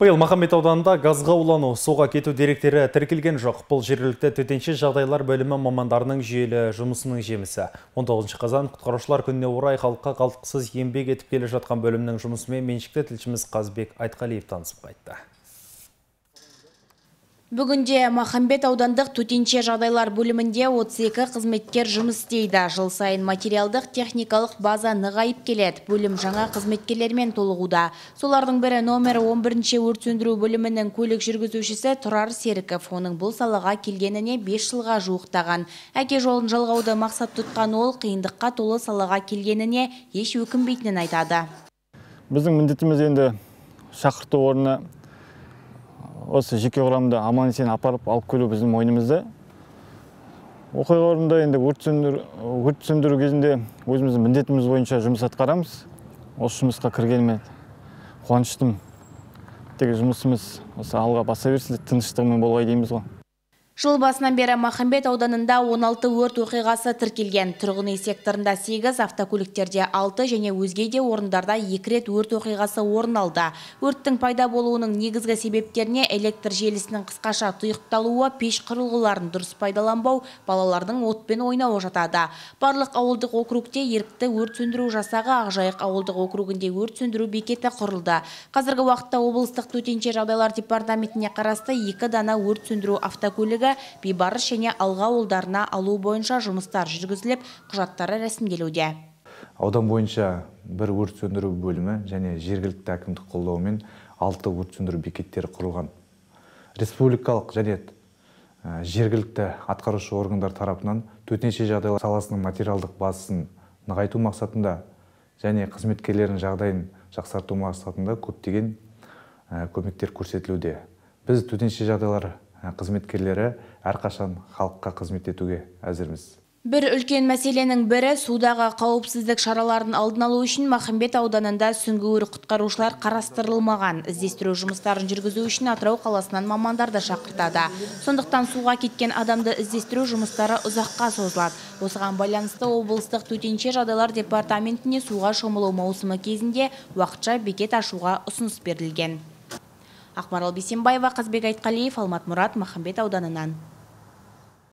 Биыл Махамбет ауданында газға улану, суға кету деректері тіркелген жоқ. Бұл жергілікті төтенше жағдайлар бөлімі мамандарының жүйелі жұмысының жемісі. 19 қазан құтқарушылар күніне орай халыққа қалтқысыз еңбек етіп келе жатқан бөлімнің жұмысымен меншікті тілшіміз Қазбек Айтқалиев танысып қайтты. Бүгінде Махамбет аудандық төтенше жағдайлар бөлімінде 32 қызметкер жұмыс істейді. Жыл сайын материалдық техникалық база нығайып келеді. Бөлім жаңа қызметкерлермен толығуда. Солардың бірі номер 11-ші өрт сөндіру бөлімінің көлік жүргізушісі Тұрар Серіков. Оның бұл салаға келгеніне 5 жылға жуықтаған. Әке жолын жалғауды мақсат тұтқан ол қиындыққа толы салаға келгеніне еш өкінбейтінін айтады. Біздің міндетіміз енді шақырту орнына осы жеке құрамды аман-есен апарып алып келу біздің мойнымызда. Оқиға орнында енді өрт сөндіру кезінде өзіміздің міндетіміз бойынша жұмыс атқарамыз. Осы жұмысқа кіргеніме қуаныштымын. Тек жұмысымыз осы алға баса берсін, тыныштығымен болғай дейміз ғой. Жыл басынан бері Махамбет ауданында 16 өрт оқиғасы тіркелген. Тұрғын үй секторында 8, автокөліктерде 6 және өзге де орындарда 2 рет өрт оқиғасы орын алды. Өрттің пайда болуының негізгі себептеріне электр желісінің қысқаша тұйықталуы, пеш құрылғыларын дұрыс пайдаланбау, балалардың отпен ойнауы жатады. Барлық ауылдық округте ерікті өрт сөндіру жасағы, Ақжайық ауылдық округінде өрт сөндіру бекеті құрылды. Қазіргі уақытта облыстық төтенше жағдайлар департаментіне қарасты 2 дана өрт сөндіру автокөлігі Бейбарыс және Алға ауылдарына алу бойынша жұмыстар жүргізіліп, құжаттары рәсімделуде. Аудан бойынша бір өрт сөндіру бөлімі және жергілікті әкімдік қолдауымен 6 өрт сөндіру бекеттері құрылған. Республикалық және жергілікті атқарушы органдар тарапынан төтенше жағдайлар саласының материалдық базасын нығайту мақсатында және қызметкерлердің жағдайын жақсарту мақсатында көптеген көмектер көрсетілуде. Біз төтенше жағдайлар қызметкерлері әрқашан халыққа қызмет етуге әзірміз. Бір үлкен мәселенің бірі судағы қауіпсіздік шараларын алдын алу үшін Махамбет ауданында сүңгуір құтқарушылар қарастырылмаған. Іздестіру жұмыстарын жүргізу үшін Атырау қаласынан мамандарды шақыртады. Сондықтан суға кеткен адамды іздестіру жұмыстары ұзаққа созылады. Осыған байланысты облыстық төтенше жағдайлар департаментіне суға шомылу маусымы кезінде уақытша бекет ашуға ұсыныс берілген. Ақмарал Бейсенбаева, Қазбек Айтқалиев, Алмат Мұрат, Махамбет ауданынан.